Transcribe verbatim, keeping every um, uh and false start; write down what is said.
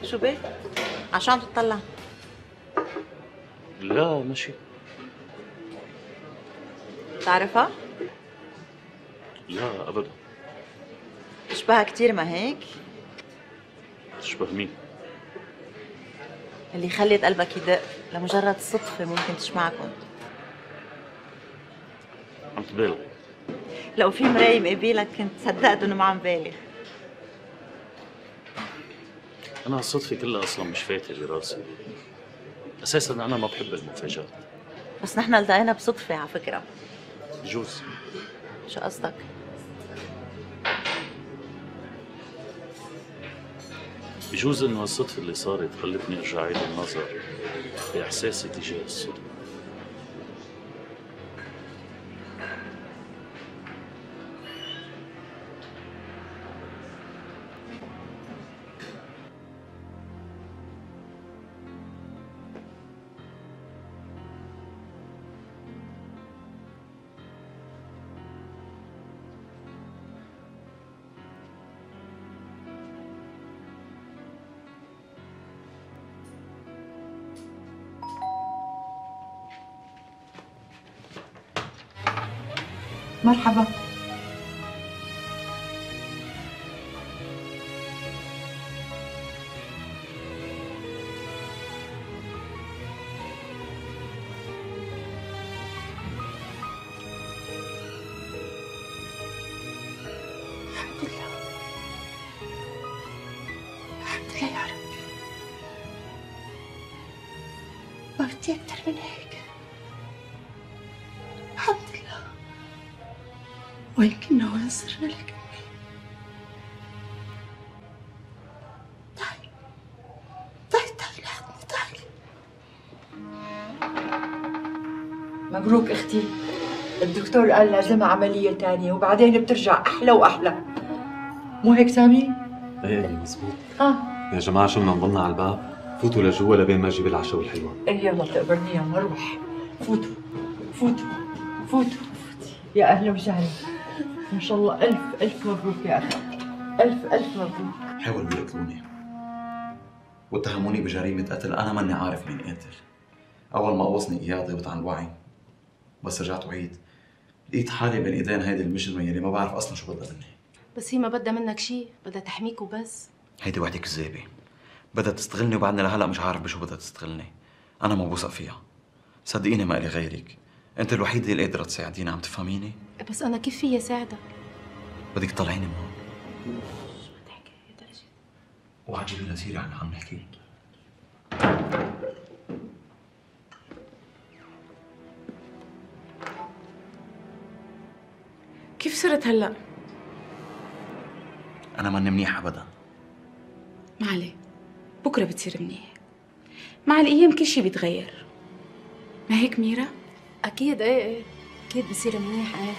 شو بك؟ عشو عم تطلع؟ لا ماشي. بتعرفها؟ لا ابدا. تشبهها كتير ما هيك؟ تشبه مين؟ اللي خلت قلبك يدق لمجرد صدفة ممكن تجمعكم. عم تبالغ. لو في مراية مقابلك كنت صدقت انه ما عم بالغ. انا هالصدفة كلها اصلا مش فايتة براسي. اساسا انا ما بحب المفاجآت. بس نحن التقينا بصدفة على فكرة. بجوز. شو قصدك؟ بجوز انه هالصدفة اللي صارت خلتني ارجع اعيد النظر باحساسي تجاه الصدفة. مرحبا. الحمد لله الحمد لله يا رب. ما بدي أكتر من هيك. الحمد لله. ولكنه ينصرنا لك أمي. تعالي تعالي تعالي لحظة تعالي. مبروك اختي، الدكتور قال لازمها عملية تانية وبعدين بترجع أحلى وأحلى. مو هيك سامي؟ ايه ايه مزبوط. ها يا جماعة شو بدنا نضلنا على الباب؟ فوتوا لجوا لبين ما اجيب العشاء والحلوة. إيه يلا تقبرني يا مروح. فوتوا فوتوا فوتوا. يا أهلا وسهلا. ما شاء الله ألف ألف مبروك يا أخي. ألف ألف مبروك. حاولوا يقتلوني واتهموني بجريمة قتل أنا ماني عارف مين قاتل. أول ما قوصني إياه ضيبت عن الوعي، بس رجعت وعيد لقيت حالي بين إيدين هيدي المجرمة يلي ما بعرف أصلا شو بدها مني. بس هي ما بدها منك شيء، بدها تحميك وبس. هيدي وحدة كذابة، بدها تستغلني وبعدني لهلا مش عارف بشو بدها تستغلني. أنا ما بوثق فيها، صدقيني ما إلي غيرك، أنت الوحيدة اللي قادرة تساعديني، عم تفهميني؟ بس أنا كيف فيي ساعدك؟ بدك تطلعيني من هون. شو بتحكي يا درجة؟ اوعى تجيبي لها سيرة عن اللي عم نحكي. كيف صرت هلا؟ أنا ماني منيح أبدا. ما عليه، بكره بتصير منيح. مع الأيام كل شيء بيتغير. ما هيك ميرا؟ أكيد إيه إيه، أكيد بصير منيح إيه.